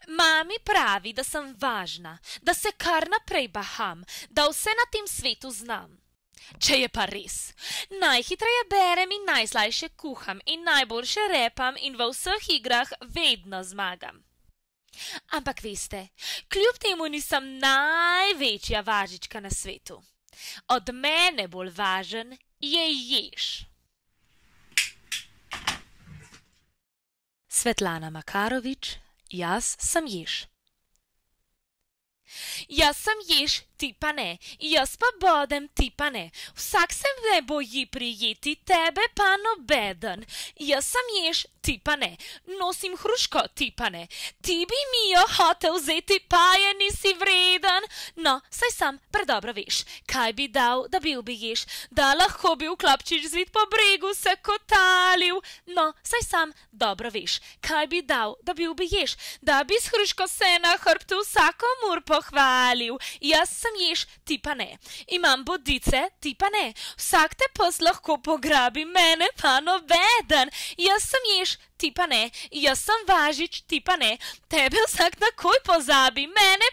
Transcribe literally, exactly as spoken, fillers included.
Mami pravi, da sem važna, da se kar naprej baham, da vse na tem svetu znam. Če je pa res, najhitreje berem in najslajše kuham in najboljše repam in v vseh igrah vedno zmagam. Ampak veste, kljub temu nisem največja važička na svetu. Od mene bolj važen je jež. Svetlana Makarovič, jaz sem jež. Jaz sem jež, ti pa ne, jaz pa bodem, ti pa ne. Vsak se me boji prijeti, tebe pa nobeden. Jaz sem jež, ti pa ne, nosim hruško, ti pa ne. Ti bi mi jo hotel vzeti, pa je nisi vreden. No, saj sam predobro veš, kaj bi dal, da bil bi jež, da lahko bi v klapčič zvit po bregu se kotalil. No, saj sam dobro veš, kaj bi dal, da bil bi jež, da bi s hruško se na hrbtu vsakomur pohvalil. Jaz sem jež, ti pa ne. Imam bodice, ti pa ne. Vsak te pes lahko pograbi, mene pa nobeden. Jaz sem jež, ti pa ne. Jaz sem važič, ti pa ne. Tebe vsak takoj pozabi, mene